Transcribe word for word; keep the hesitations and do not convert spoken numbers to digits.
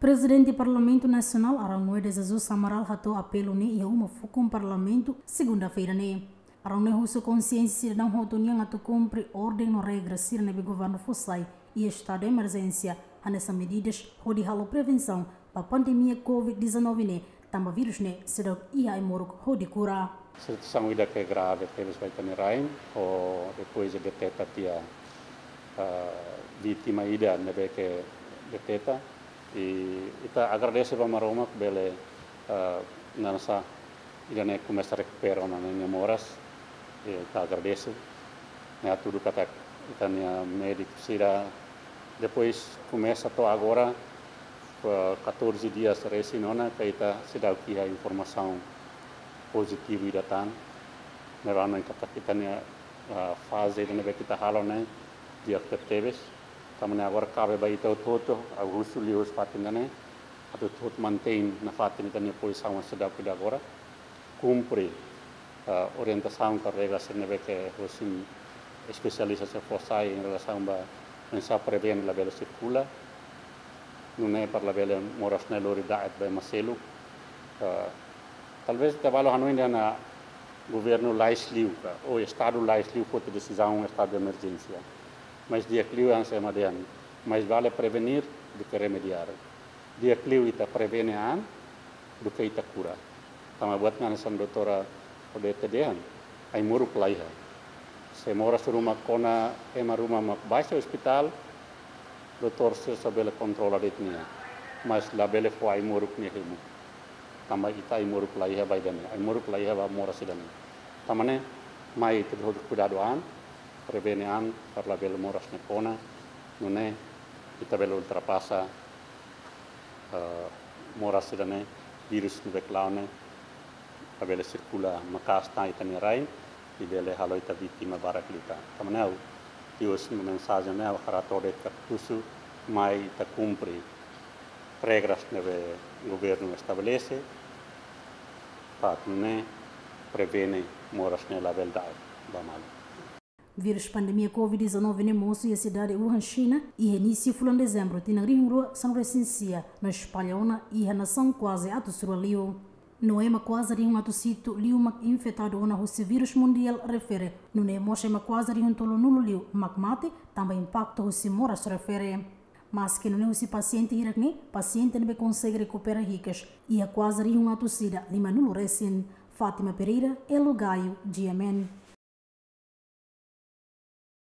Prezidente Parlamentu Nasionál, Arão Noé de Jesus Amaral, hato'o apelu ne'e iha uma fukun Parlamentu, segunda-feira ne'e. Arão Noé husu konsiénsia sidadaun hotu nian atu kumpre orden no regra sira ne'ebé governu fó sai iha estadu de emerjénsia, hanesan medidas hodi halo prevensaun ba pandemia covid dezanove ne'e, tanba vírus ne'e seidauk iha ai-moruk hodi kura. Situasaun ida ke grave tebes ba ita-nia rain, ho depois de deteta tiha, ah, vítima ida ne'ebé ke deteta. I ita agradese ba Maromak bele, ah, naran sá, ida-ne'e komesa rekupera ona ninia moras. I ita agradese. Ne'e hatudu katak ita-nia médiku sira, depois komesa to'o agora, ah, catorze dias resin ona, ke ita seidauk iha informasaun pozitivu ida tan. Ne'e rona katak ita-nia, ah, faze ida ne'ebé ke ita halo ne'e di'ak tebes. Tanba ne'e agora kabe ba ita hotu-hotu, ha'u husu liuhusi fatin ida-ne'e, atu hotu-hotu mantein nafatin ita-nia pozisaun seidauk ida agora. Kumpre, ah, orientasaun ka regra sira ne'ebé ke hosi espesialista sira fó sai em relação ba oinsá prevene labele sirkula. Nune'e para labele moras ne'e lori da'et ba ema seluk. Ah, talvez ita balu hanoin dehan governu lais liu ka, ou estadu lais liu foti desizaun estadu de emerjénsia. Mas di'ak liu hanesan ema dehan, mais vale prevenir do que remediar. Di'ak liu ita prevene an do que ita kura. Tanba buat hanesan doutora Odete dehan, ai-moruk laiha. Se moras ruma kona, ema ruma mak baixa ospitál, doutór sira só bele kontrola de'it nia. Mas labele fó ai-moruk nia hemu. Tanba ita ai-moruk laiha ba ida-ne'e, ai-moruk laiha ba moras ida-ne'e. Tanba ne'e, mai ita hotu kuidadu an, prevene an, para labele moras ne'e kona, nune'e ita bele ultrapasa, ah, moras ida-ne'e, vírus ne'ebé ke la'o ne'e, labele sirkula maka'as tan ita-nia rain, i bele halo ita vítima barak liután. Tanba ne'e ha'u iha mensajen ne'e ha'u hato'o de'it katak husu mai ita kumpre regras ne'ebé governu estabelese, para nune'e prevene moras ne'e labele da'et ba malu. Vírus pandemia covid dezanove ne'e mosu iha sidade Wuhan, Xina, iha inísiu fulan Dezembru, tinan rihun rua sanulu resin sia, no espalla ona iha nasaun kuaze atus rua liu. No ema kuaze rihun atus hitu liu mak infetadu ona husi vírus mundiál refere, nune'e mós ema kuaze rihun tolunulu liu mak mate, tanba impaktu husi moras refere. Maske nune'e husi pasiente hirak ne'e, pasiente ne'ebé konsege rekupera hikas iha kuaze rihun atus ida limanulu resin. Fátima Pereira, Elo Gaio, G M N.